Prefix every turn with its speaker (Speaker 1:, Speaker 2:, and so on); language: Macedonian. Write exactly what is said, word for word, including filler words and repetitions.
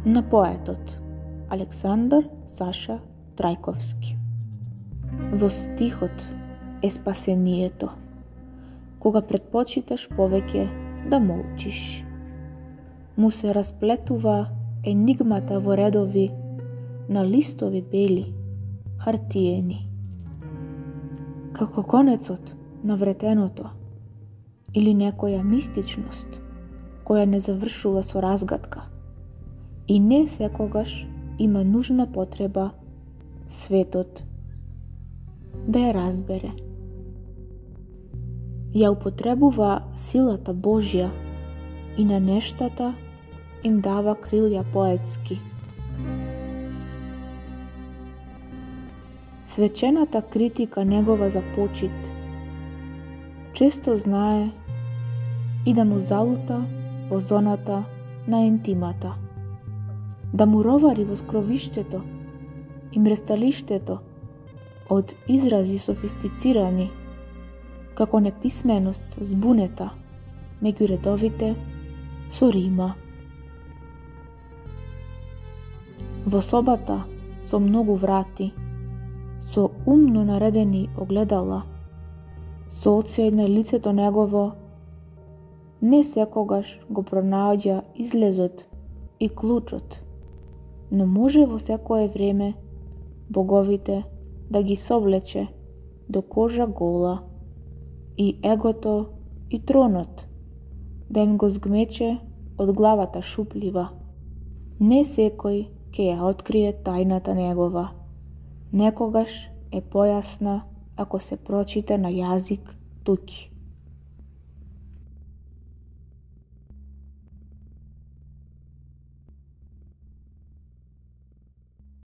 Speaker 1: на поетот Александар Саша Трајковски. Во стихот е спасението, кога предпочиташ повеќе да молчиш. Му се расплетува енигмата во редови на листови бели, хартиени. Како конецот на вретеното или некоја мистичност која не завршува со разгадка и не секогаш има нужна потреба светот да ја разбере. Ја употребува силата Божја и на нештата им дава крилја поетски. Свечената критика негова за почит често знае и да му залута во зоната на ентимата, да му ровари во скровиштето и мресталиштето од изрази софистицирани, како неписменост збунета меѓу редовите со рима. Во собата со многу врати, со умно наредени огледала, со оцеј на лицето негово, не секогаш го пронаоѓа излезот и клучот, но може во секое време боговите да ги соблече до кожа гола и егото и тронот да им го згмече од главата шуплива. Не секој ќе ја открие тајната негова. Некогаш е појасна ако се прочита на јазик туки.